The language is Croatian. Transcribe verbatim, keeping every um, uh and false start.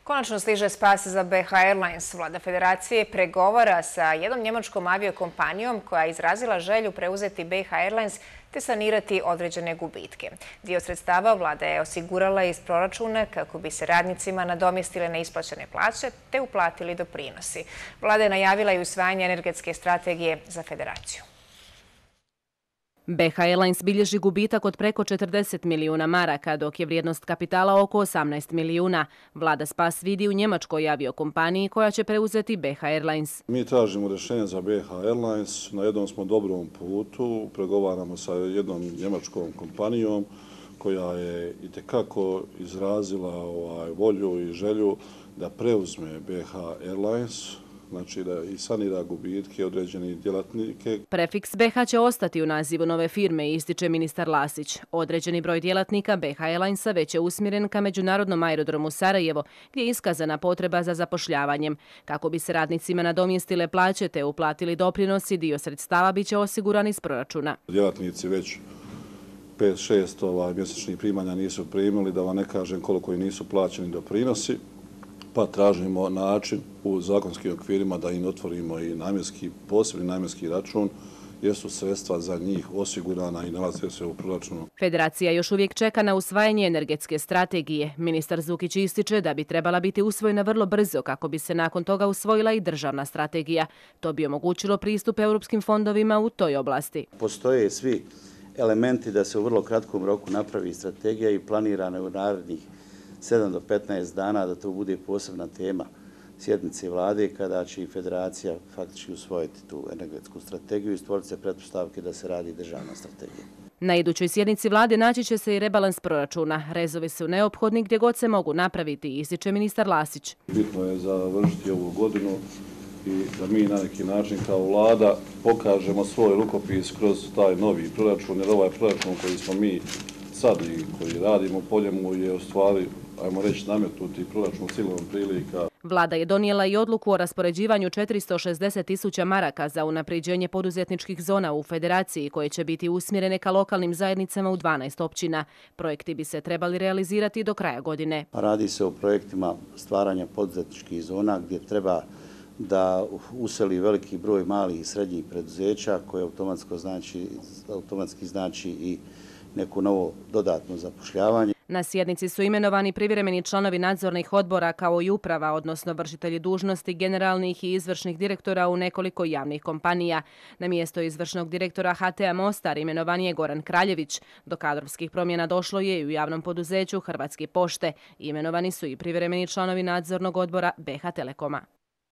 Konačno stiže spas za B H Airlines. Vlada federacije pregovara sa jednom njemačkom aviokompanijom koja je izrazila želju preuzeti B H Airlines te sanirati određene gubitke. Dio sredstava vlada je osigurala iz proračuna kako bi se radnicima nadomjestile neisplaćene plaće te uplatili doprinosi. Vlada je najavila i usvajanje energetske strategije za federaciju. B H Airlines bilježi gubitak od preko četrdeset milijuna maraka, dok je vrijednost kapitala oko osamnaest milijuna. Vlada spas vidi u njemačkoj aviokompaniji koja će preuzeti B H Airlines. Mi tražimo rješenje za B H Airlines, na jednom smo dobrom putu, pregovaramo sa jednom njemačkom kompanijom koja je itekako izrazila ovaj, volju i želju da preuzme B H Airlines, znači da i sanira gubitke određenih djelatnike. Prefiks B H će ostati u nazivu nove firme, ističe ministar Lasić. Određeni broj djelatnika B H Airlinesa već je usmjeren ka međunarodnom aerodromu Sarajevo, gdje je iskazana potreba za zapošljavanjem. Kako bi se radnicima nadomjestile plaće te uplatili doprinosi, dio sredstava biće osiguran iz proračuna. Djelatnici već pet šest ovaj, mjesečnih primanja nisu primili, da vam ne kažem koliko i nisu plaćeni doprinosi. Pa tražimo način u zakonskim okvirima da im otvorimo i namjenski, posebni namjenski račun, jer su sredstva za njih osigurana i nalaze se u proračunu. Federacija još uvijek čeka na usvajanje energetske strategije. Ministar Zukić ističe da bi trebala biti usvojena vrlo brzo kako bi se nakon toga usvojila i državna strategija. To bi omogućilo pristup europskim fondovima u toj oblasti. Postoje svi elementi da se u vrlo kratkom roku napravi strategija i planirane u narednih sedam do petnaest dana da to bude posebna tema sjednice vlade kada će i federacija faktički usvojiti tu energetsku strategiju i stvoriti se pretpostavke da se radi državna strategija. Na idućoj sjednici vlade naći će se i rebalans proračuna. Rezovi su neophodni gdje god se mogu napraviti, ističe ministar Lasić. Bitno je završiti ovu godinu i da mi na neki način kao vlada pokažemo svoj rukopis kroz taj novi proračun, jer ovaj proračun koji smo mi sad i koji radimo po njemu je u stvari, ajmo reći, nametnuti proračun silom prilika. Vlada je donijela i odluku o raspoređivanju četiristo šezdeset tisuća maraka za unapređenje poduzetničkih zona u federaciji koje će biti usmjerene ka lokalnim zajednicama u dvanaest općina. Projekti bi se trebali realizirati do kraja godine. Radi se o projektima stvaranja poduzetničkih zona gdje treba da useli veliki broj malih i srednjih preduzeća koje automatski znači, automatski znači i neko novo dodatno zapošljavanje. Na sjednici su imenovani privremeni članovi nadzornih odbora kao i uprava, odnosno vršitelji dužnosti generalnih i izvršnih direktora u nekoliko javnih kompanija. Na mjesto izvršnog direktora H T A Mostar imenovan je Goran Kraljević. Do kadrovskih promjena došlo je i u javnom poduzeću Hrvatske pošte. Imenovani su i privremeni članovi nadzornog odbora B H Telekoma.